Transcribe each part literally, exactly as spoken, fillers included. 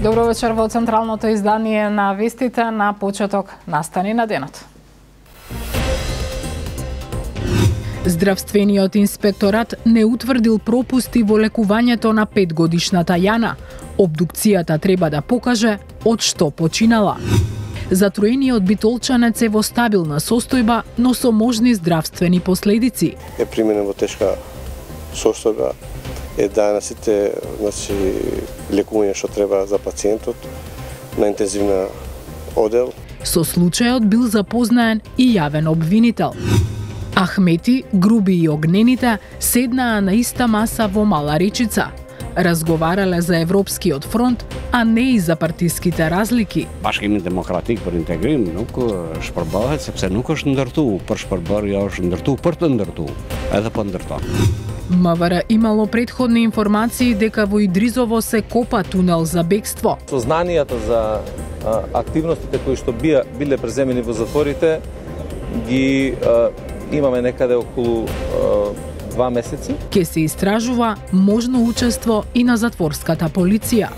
Добро вечер во централното издание на вестите на почеток настани на денот. Здравствениот инспекторат не утврдил пропусти во лекувањето на петгодишната Јана. Обдукцијата треба да покаже од што починала. Затроениот битолчанец е во стабилна состојба, но со можни здравствени последици. Е применен во тешка состојба, е дадена сите, значи, лекување што треба за пациентот на интензивна одел. Со случајот бил запознаен и јавен обвинител. Ахмети, Груби и Огнените седнаа на иста маса во Мала Речица. Разговарале за Европскиот фронт, а не и за партиските разлики. Bashkimi Demokratik për integrim nuk shpërbahet sepse nuk është ndërtuar për shpërbërje, është ndërtuar për të ndërtuar, edhe po ndërton. МВР имало предходни информации дека во Идризово се копа тунел за бегство. Сознанијата за а, активностите кои што бија биле преземени во затворите ги а, имаме некаде околу а, два месеци. Ке се истражува можно учество и на затворската полиција.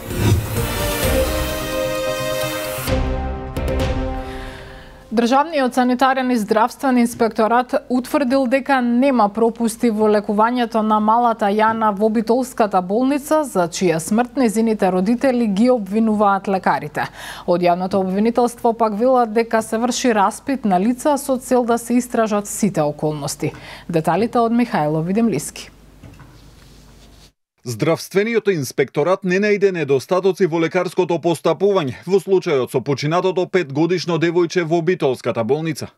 Државниот санитарен и здравствен инспекторат утврдил дека нема пропусти во лекувањето на малата Јана во Битолската болница, за чија смрт нејзините родители ги обвинуваат лекарите. Од јавното обвинителство пак велат дека се врши распит на лица со цел да се истражат сите околности. Деталите од Михајло Видемлиски. Здравствениот инспекторат не најде недостатоци во лекарското постапување во случајот со починатото петгодишно девојче во Битолската болница.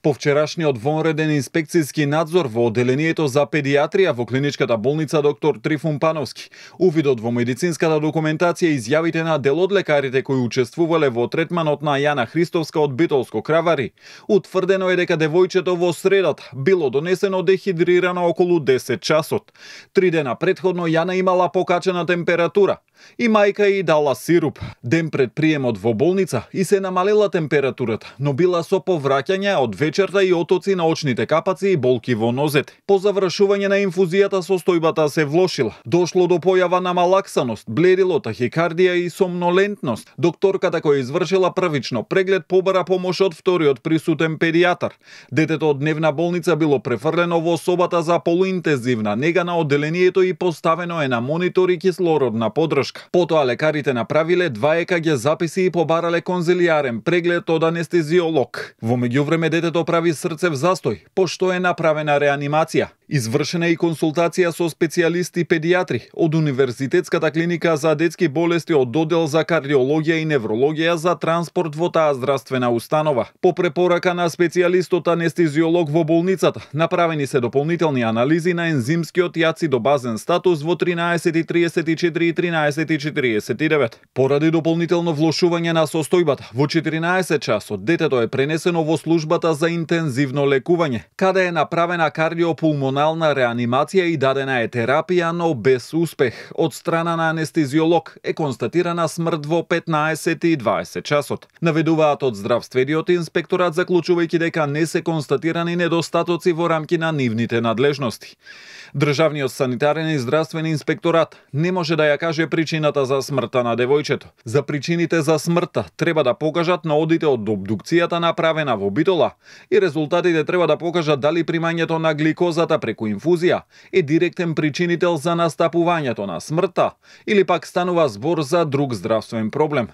По вчерашниот вонреден инспекцијски надзор во одделението за педиатрија во клиничката болница доктор Трифун Пановски, увидот во медицинската документација и изјавите на дел од лекарите кои учествувале во третманот на Јана Христовска од Битолско Кравари, утврдено е дека девојчето во средата било донесено дехидрирано околу десет часот. Три дена претходно Јана имала покачена температура и мајка и дала сируп. Ден пред приемот во болница и се намалела температурата, но била со повраќање од вечерта и отоци на очните капаци и болки во нозете. По завршување на инфузијата состојбата се влошила. Дошло до појава на малаксаност, бледило, тахикардија и сомнолентност. Докторката која извршила првично преглед побара помош од вториот присутен педијатар. Детето од дневна болница било префрлено во собата за полуинтензивна нега на одделението и поставено е на монитор и кислородна подршка. Потоа лекарите направиле два е ка ге записи и побарале конзилијарен преглед од анестезиолог. Во меѓувреме детето прави срцев застој, пошто е направена реанимација. Извршена и консултација со специјалисти педијатри од Универзитетската клиника за детски болести од оддел за кардиологија и неврологија за транспорт во таа здравствена установа. По препорака на специјалистот анестезиолог во болницата, направени се дополнителни анализи на ензимскиот и ацидобазен статус во тринаесет триесет и четири и тринаесет четиридесет и девет. Поради дополнително влошување на состојбата, во четиринаесет часот детето е пренесено во службата за интензивно лекување, каде е направена кардиопулмонална реанимација и дадена е терапија, но без успех. Од страна на анестезиолог е констатирана смрт во петнаесет и дваесет часот. Наведуваат од здравствениот инспекторат, заклучувајќи дека не се констатирани недостатоци во рамки на нивните надлежности. Државниот санитарен и здравствен инспекторат не може да ја каже причината за смртта на девојчето. За причините за смртта треба да покажат наодите од обдукцијата направена во Битола и резултатите треба да покажат дали примањето на гликозата преку инфузија е директен причинител за настапувањето на смртта или пак станува збор за друг здравствен проблем.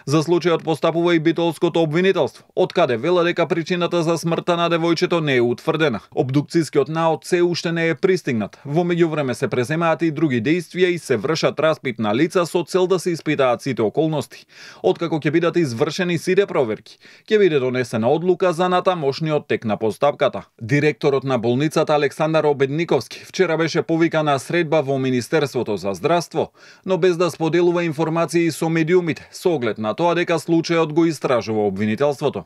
За случајот постапува и битолското обвинителство, од каде вела дека причината за смртта на девојчето не е утврдена. Обдукцијскиот наод се уште не е пристигнат. Во меѓувреме се преземаат и други действија и се вршат распит на лица со цел да се испитаат сите околности. Откако ќе бидат извршени сите проверки, ќе биде донесена одлука за натамошниот тек на постапката. Директорот на болницата Александар Обедниковски вчера беше повикан на средба во Министерството за здравство, но без да споделува информации со медиумите, со оглед на тоа дека случајот го истражува обвинителството.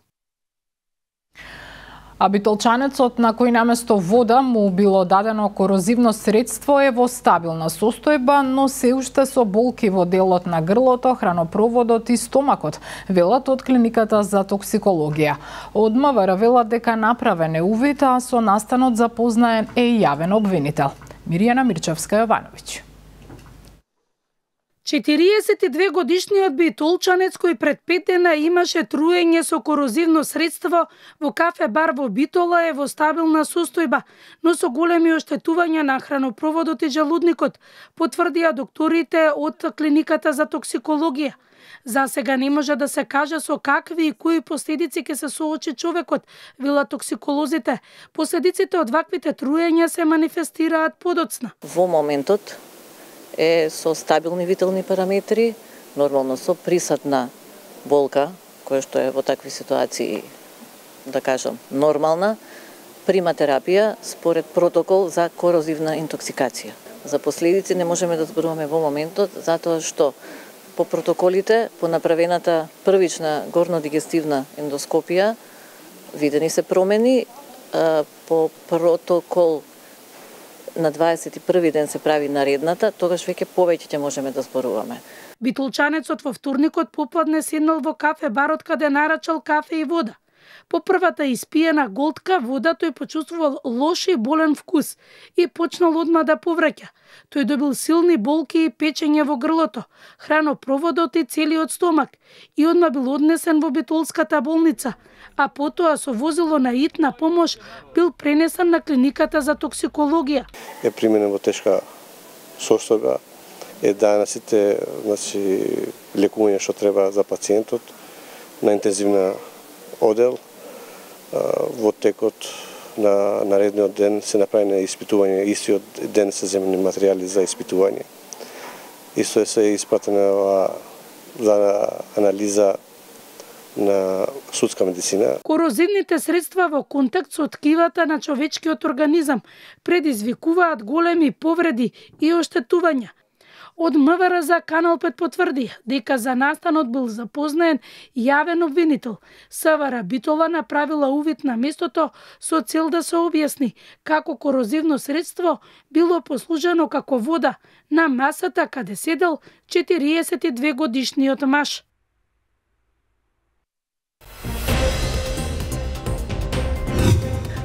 А битолчанецот на кој наместо вода му било дадено корозивно средство е во стабилна состојба, но се уште со болки во делот на грлото, хранопроводот и стомакот, велат од клиниката за токсикологија. Од МВР велат дека направен е увид, а со настанот запознаен е и јавен обвинител. Мирјана Мирчевска Јовановиќ. четириесет и две годишниот битолчанец кој пред пет дена имаше труење со корозивно средство во кафе бар во Битола е во стабилна состојба, но со големи оштетувања на хранопроводот и желудникот, потврдија докторите од клиниката за токсикологија. За сега не може да се каже со какви и кои последици ќе се соочи човекот, велат токсиколозите. Последиците од ваквите труења се манифестираат подоцна. Во моментот е со стабилни витални параметри, нормално со присадна болка, која што е во такви ситуации, да кажам, нормална, прима терапија според протокол за корозивна интоксикација. За последици не можеме да зборуваме во моментот, затоа што по протоколите, по направената првична горнодигестивна ендоскопија, видени се промени, по протокол на дваесет и први ден се прави наредната, тогаш веќе повеќе ќе можеме да зборуваме. Битолчанецот во вторникот попладне седнал во кафе барот каде нарачал кафе и вода. По првата испиена голтка вода тој почувствувал лош и болен вкус и почнал одма да повраќа. Тој добил силни болки и печење во грлото, хранопроводот и целиот стомак и одма бил однесен во Битолската болница, а потоа со возило на итна помош бил пренесен на клиниката за токсикологија. Е применен во тешка состојба, е дадена сите, значи, лекување што треба за пациентот на интензивна одел. Во текот на наредниот ден се направени испитување, истиот ден се земени материјали за испитување. Исто е се испратена за анализа на судска медицина. Корозивните средства во контакт со ткивата на човечкиот организам предизвикуваат големи повреди и оштетувања. Од МВР за Канал пет потврди дека за настанот бил запознаен јавен обвинител. СВР Битола направила увид на местото со цел да се објасни како корозивно средство било послужено како вода на масата каде седел четириесет и две годишниот маж.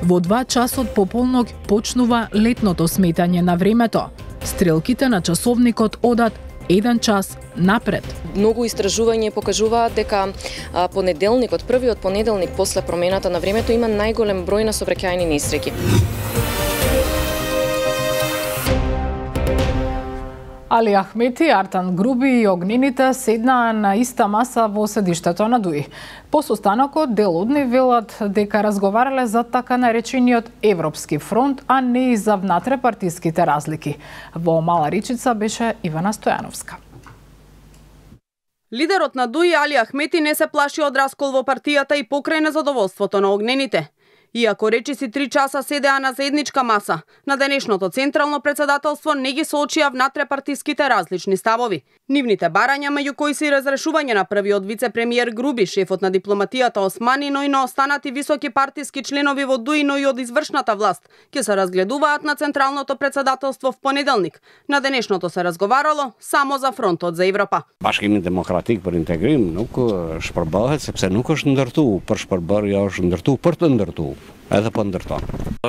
Во два часот пополнок почнува летното сметање на времето. Стрелките на часовникот одат еден час напред. Многу истражувања покажуваат дека а, понеделникот, првиот понеделник после промената на времето има најголем број на сообраќајни несреќи. Али Ахмети, Артан Груби и огнените седнаа на иста маса во седиштето на ДУИ. По состанокот дел од нив велат дека разговарале за така наречениот Европски фронт, а не и за внатрепартиските разлики. Во Мала Речица беше Ивана Стојановска. Лидерот на ДУИ Али Ахмети не се плаши од раскол во партијата и покрај незадоволството на огнените. Иако речиси три часа седеа на заедничка маса, на денешното централно председателство не ги соочија внатрепартиските различни ставови. Нивните барања, меѓу кои се и разрешување на првиот вице-премиер Груби, шефот на дипломатијата Османи, но и на останати високи партиски членови во ДУИ, но и од извршната власт, ќе се разгледуваат на централното председателство в понеделник. На денешното се разговарало само за фронтот за Европа. Bashkimi Demokratik për Integrim nuk shpërballet sepse nuk është ndërtu për shpërbarja, është ndërtu për të ndërtu. Edhe po ndërton.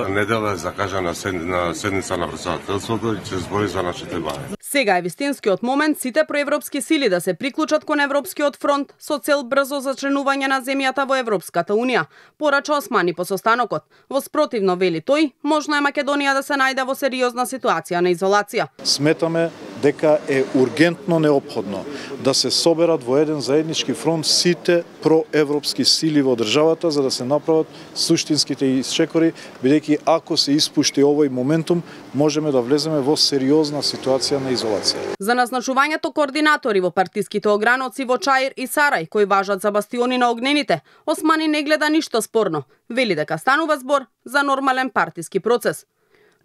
Недела е закажана на седница на председателството и ќе збори за нашите бари. Сега е вистинскиот момент сите проевропски сили да се приклучат кон Европскиот фронт со цел брзо зачленување на земјата во Европската унија, порача Османи по состанокот. Во спротивно, вели тој, можно е Македонија да се најде во сериозна ситуација на изолација. Сметаме дека е ургентно неопходно да се соберат во еден заеднички фронт сите проевропски сили во државата за да се направат суштинските исчекори, бидејќи ако се испушти овој моментум, можеме да влеземе во сериозна ситуација на изолација. За назначувањето координатори во партиските ограноци во Чаир и Сарај, кои важат за бастиони на огнените, Османи не гледа ништо спорно. Вели дека станува збор за нормален партиски процес.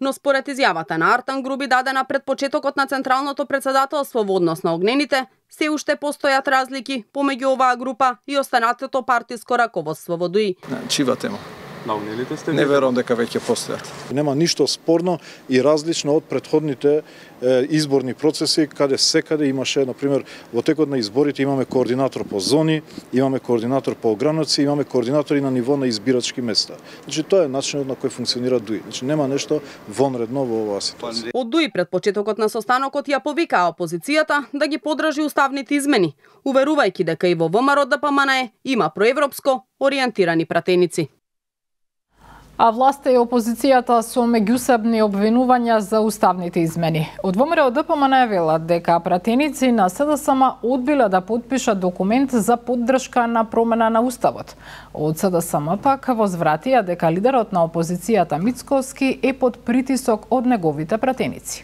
Но според изјавата на Артан Груби дадена пред почетокот на централното председателство во однос на огнените, се уште постојат разлики помеѓу оваа група и останатото партиско раководство во ДУИ. Чива тема? На огнените сте? Не верувам дека веќе постојат. Нема ништо спорно и различно од претходните е, изборни процеси, каде секаде имаше, например, во текот на изборите имаме координатор по зони, имаме координатор по ограници, имаме координатори на ниво на избирачки места. Значи тоа е начинот на кој функционира ДУИ. Значи нема нешто вонредно во оваа ситуација. Од ДУИ пред почетокот на состанокот ја повикаа опозицијата да ги поддржи уставните измени, уверувајќи дека и во ВМРО Д П М Н има проевропско ориентирани пратеници. А власта и опозицијата со меѓусебни обвинувања за уставните измени. Од ВМРО Д П М Н велат дека пратеници на С Д С М одбиле да потпишат документ за поддршка на промена на уставот. Од С Д С М пак возвратија дека лидерот на опозицијата Мицкоски е под притисок од неговите пратеници.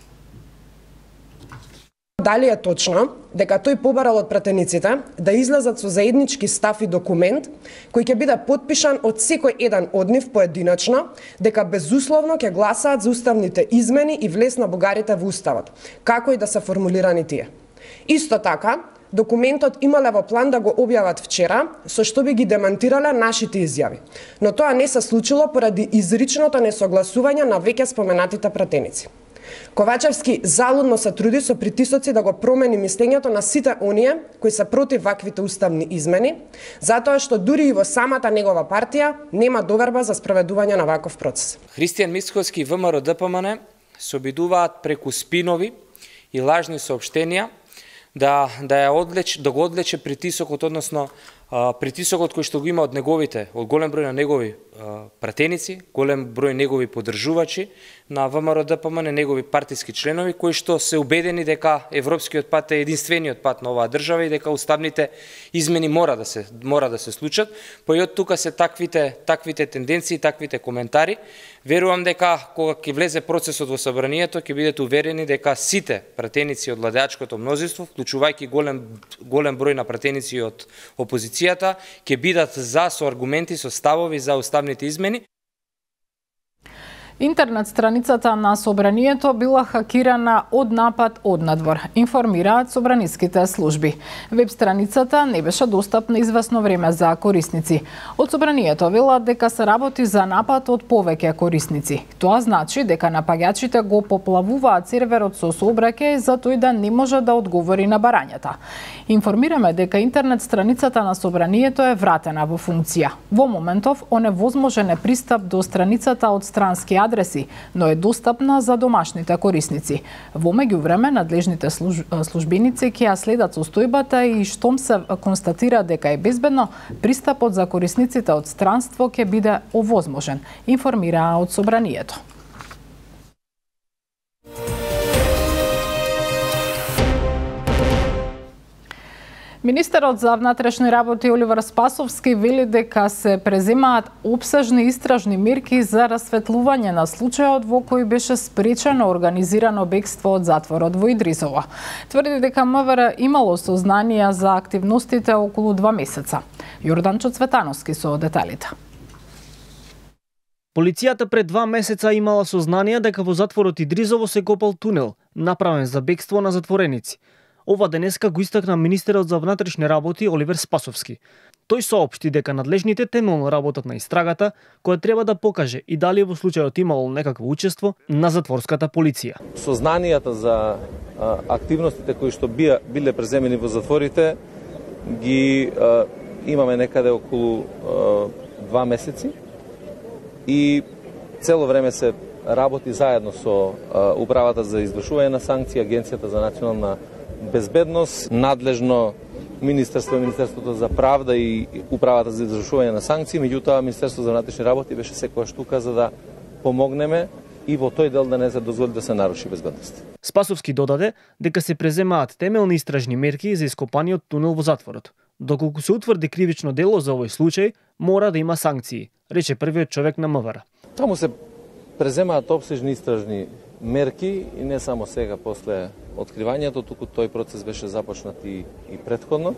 Дали е точно дека тој побарал од пратениците да излезат со заеднички став и документ кој ќе биде потпишан од секој еден од нив поединечно, дека безусловно ќе гласаат за уставните измени и влез на бугарите во уставот, како и да се формулирани тие. Исто така, документот имале во план да го објават вчера, со што би ги демантирале нашите изјави. Но тоа не се случило поради изричното несогласување на веќе споменатите пратеници. Ковачевски залудно се труди со притисоци да го промени мислењето на сите оние кои се против ваквите уставни измени, затоа што дури и во самата негова партија нема доверба за спроведување на ваков процес. Христијан Мицкоски и ВМРО Д П М Н се обидуваат преку спинови и лажни соопштенија да да ја одлеч да го одлече притисокот, односно притисокот кој што го има од неговите, од голем број на негови пратеници, голем број негови поддржувачи на ВМРО Д П М Н, негови партиски членови кои што се убедени дека европскиот пат е единствениот пат на оваа држава и дека уставните измени мора да се мора да се случат. Па и од тука се таквите таквите тенденции, таквите коментари. Верувам дека кога ќе влезе процесот во собранието ќе бидете уверени дека сите пратеници од владеачкото мнозинство, вклучувајќи голем голем број на пратеници од опозицијата, ќе бидат за со аргументи, со ставови за уставните измени. Интернет страницата на Собранието била хакирана од напад од надвор, информираат собраниските служби. Веб страницата не беше достапна известно време за корисници. Од Собранието велат дека се работи за напад од повеќе корисници. Тоа значи дека напаѓачите го поплавуваат серверот со сообраќај за тој да не може да одговори на барањата. Информираме дека интернет страницата на Собранието е вратена во функција. Во моментов оневозможен е пристап до страницата од странски адреси, но е достапна за домашните корисници. Во меѓувреме, надлежните службеници ќе ја следат состојбата и штом се констатира дека е безбедно, пристапот за корисниците од странство ќе биде овозможен, информираа од Собранието. Министерот за внатрешни работи Оливер Спасовски вели дека се преземаат опсежни истражни мерки за расветлување на случајот во кој беше спречено организирано бегство од затворот во Идрисово. Тврди дека М В Р имало сознанија за активностите околу два месеца. Јорданчо Цветановски со деталите. Полицијата пред два месеца имала сознанија дека во затворот Идризово се копал тунел, направен за бегство на затвореници. Ова денеска го истакна министерот за внатрешни работи Оливер Спасовски. Тој соопшти дека надлежните темелно работат на истрагата, која треба да покаже и дали во случајот имало некакво учество на затворската полиција. Сознанијата за а, активностите кои што бија, биле преземени во затворите ги а, имаме некаде околу а, два месеци и цело време се работи заедно со а, Управата за извршување на санкции, Агенцијата за национална безбедност, надлежно Министерство, Министерството за правда и Управата за извршување на санкции, меѓутоа Министерството за внатрешни работи беше секоја штука за да помогнеме и во тој дел да не се дозволи да се наруши безбедност. Спасовски додаде дека се преземаат темелни истражни мерки за ископаниот тунел во затворот. Доколку се утврди кривично дело за овој случај, мора да има санкции, рече првиот човек на М В Р. Таму се преземаат опсежни истражни мерки и не само сега после откривањето, туку тој процес беше започнат и, и предходно.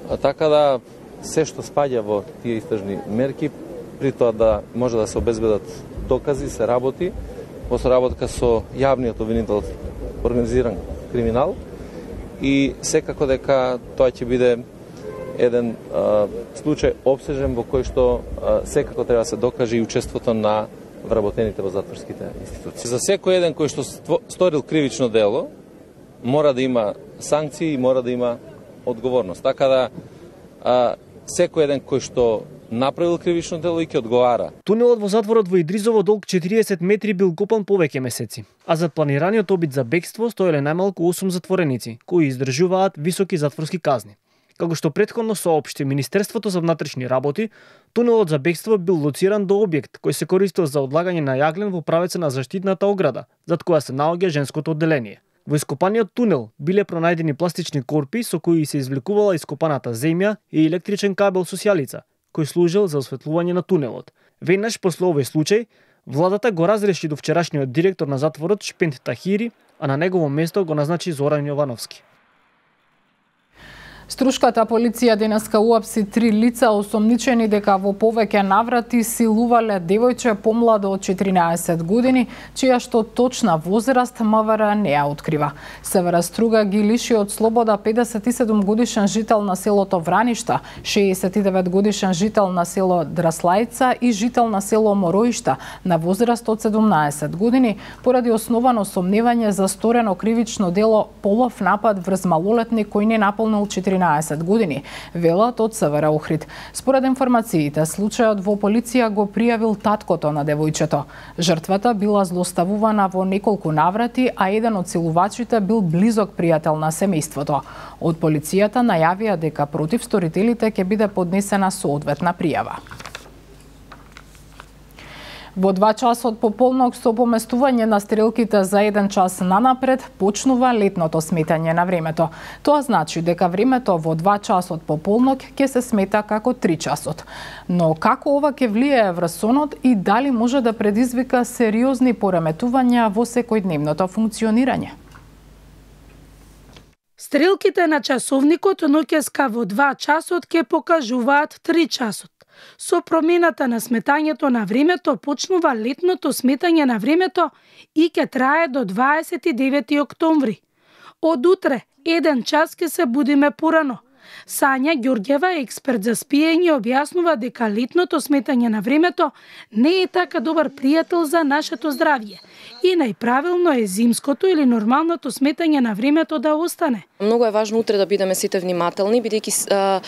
А така да се што спаѓа во тие истражни мерки, при тоа да може да се обезбедат докази, се работи во соработка со јавниот обвинител организиран криминал и секако дека тоа ќе биде еден а, случај обсежен во кој што а, секако треба да се докаже и учеството на вработените во затворските институции. За секој еден кој што сторил кривично дело, мора да има санкции и мора да има одговорност. Така да а, секој еден кој што направил кривично дело и ќе одговара. Тунелот во затворот во Идризово долг четириесет метри бил копан повеќе месеци, а зад планираниот обид за бегство стоеле најмалку осум затвореници, кои издржуваат високи затворски казни. Како што претходно соопшти Министерството за внатрешни работи, тунелот за бегство бил лоциран до објект кој се користел за одлагање на јаглен во правеца на заштитната ограда, зад која се наоѓа женското одделение. Во ископаниот тунел биле пронајдени пластични корпи со кои се извлекувала ископаната земја и електричен кабел со сјалица, кој служел за осветлување на тунелот. Веднаш после овој случај, владата го разреши до вчерашниот директор на затворот Шпент Тахири, а на негово место го назначи Зоран Јовановски. Струшката полиција денеска уапси три лица осомничени дека во повеќе наврати силувале девојче помладо од четиринаесет години, чија што точна возраст МВР не ја открива. Севера Струга ги лиши од слобода педесет и седум годишен жител на селото Враништа, шеесет и девет годишен жител на село Драслајца и жител на село Мороишта на возраст од седумнаесет години, поради основано сомневање за сторено кривично дело полов напад врз малолетник кој не наполнил четиринаесет години, велат од Севера Охрид. Според информациите, случајот во полиција го пријавил таткото на девојчето. Жртвата била злоставувана во неколку наврати, а еден од силувачите бил близок пријател на семејството. Од полицијата најавија дека против сторителите ќе биде поднесена соодветна пријава. Во два часот пополнок со поместување на стрелките за еден час нанапред почнува летното сметање на времето. Тоа значи дека времето во два часот пополнок ќе се смета како три часот. Но како ова ќе влијае врз сонот и дали може да предизвика сериозни пореметувања во секојдневното функционирање? Стрелките на часовникот ноќеска во два часот ќе покажуваат три часот. Со промената на сметањето на времето почнува летното сметање на времето и ќе трае до дваесет и девети октомври. Од утре, еден час ќе се будиме порано. Сања Ѓорѓева, експерт за спиење, објаснува дека летното сметање на времето не е така добар пријател за нашето здравје и најправилно е зимското или нормалното сметање на времето да остане. Многу е важно утре да бидеме сите внимателни, бидејќи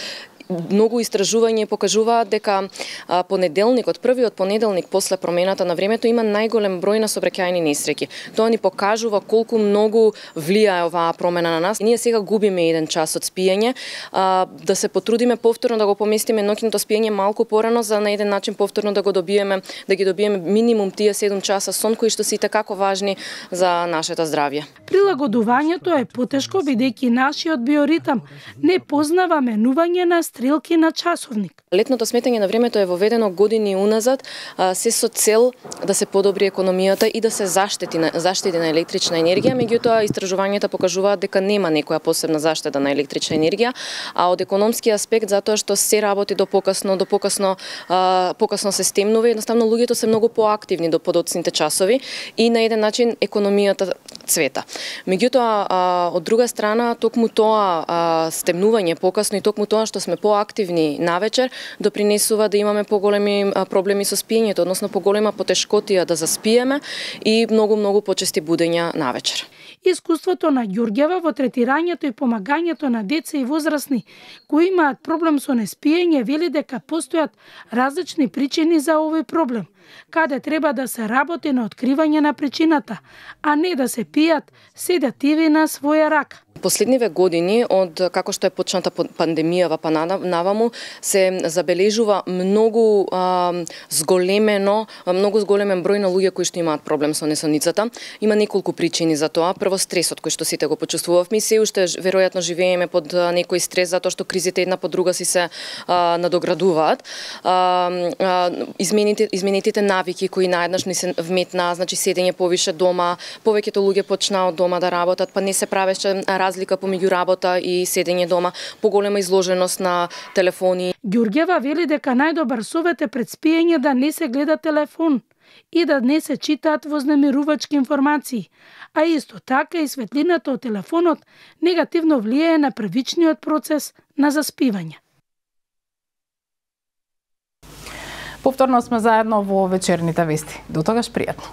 многу истражувања покажуваат дека а, понеделникот, првиот понеделник после промената на времето има најголем број на сообраќајни несреќи. Тоа ни покажува колку многу влијае оваа промена на нас. Ние сега губиме еден час од спиење, а, да се потрудиме повторно да го поместиме ноќното спиење малку порано за на еден начин повторно да го добиеме, да ги добиеме минимум тие седум часа сон кои што се итакако важни за нашето здравје. Прилагодувањето е потешко бидејќи нашиот биоритам не познава менување на стрелки на часовник. Летното сметање на времето е воведено години уназад, се со цел да се подобри економијата и да се заштити на, заштити на електрична енергија, меѓутоа истражувањата покажуваат дека нема некоја посебна заштита на електрична енергија, а од економски аспект затоа што се работи до покасно, до покасно, а, покасно се стемнува, едноставно луѓето се многу поактивни до подоцните часови и на еден начин економијата цвета. Меѓутоа, а, од друга страна, токму тоа а, стемнување покасно и токму тоа што сме поактивни навечер, допринесува да имаме поголеми проблеми со спиењето, односно поголема потешкотија да заспиеме и многу-многу почести будења навечер. Искуството на Ѓорѓева во третирањето и помагањето на деца и возрастни кои имаат проблем со неспиење вели дека постојат различни причини за овој проблем, каде треба да се работи на откривање на причината, а не да се пијат седативи на своја рака. Последниве години, од како што е почната пандемијава па наваму, се забележува многу а, зголемено, многу зголемен број на луѓе кои што имаат проблем со несоницата. Има неколку причини за тоа. Прво, стресот кој што сите го почувствувавме, се уште веројатно живееме под некој стрес затоа што кризите една по друга си се а, надоградуваат. А, а, измените, изменетите навики кои наеднаш ни се вметнаа, значи седење повише дома, повеќето луѓе почнаа од дома да работат, па не се правеше разлика помеѓу работа и седење дома, поголема изложеност на телефони. Ѓорѓева вели дека најдобар совет е пред спиење да не се гледа телефон и да не се читаат вознемирувачки информации, а исто така и светлината од телефонот негативно влијае на првичниот процес на заспивање. Повторно сме заедно во вечерните вести. До тогаш пријатно.